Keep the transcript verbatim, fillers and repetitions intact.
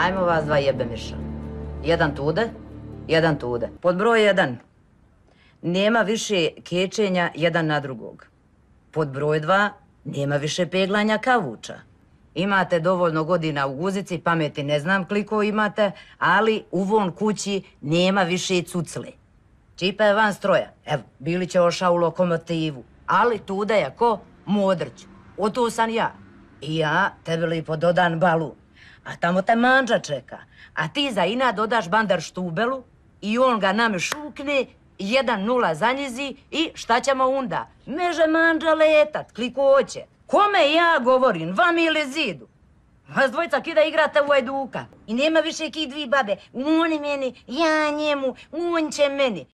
Ajmo vas dva jebe miša. Jedan tude, jedan tude. Pod broj jedan. Nema više kečenja jedan na drugog. Pod broj dva. Nema više peglanja kavuča. Imate dovoljno godina u guzici, pameti ne znam koliko imate, ali u von kući nema više cucle. Čipa je van stroja. Evo, Bilić je ošao u lokomotivu. Ali tude je ko? Modrić. O to sam ja. I ja tebi lipo dodan balun. A tamo te manđa čeka. A ti za ina dodaš bandar štubelu i on ga nam šukne, jedan nula zanjizi i šta ćemo onda? Meže manđa letat, kliko hoće. Kome ja govorim, vam ili zidu? Vas dvojica kida igrate u Ajduka. I nema više ki dvi babe. On meni, ja njemu, on će meni.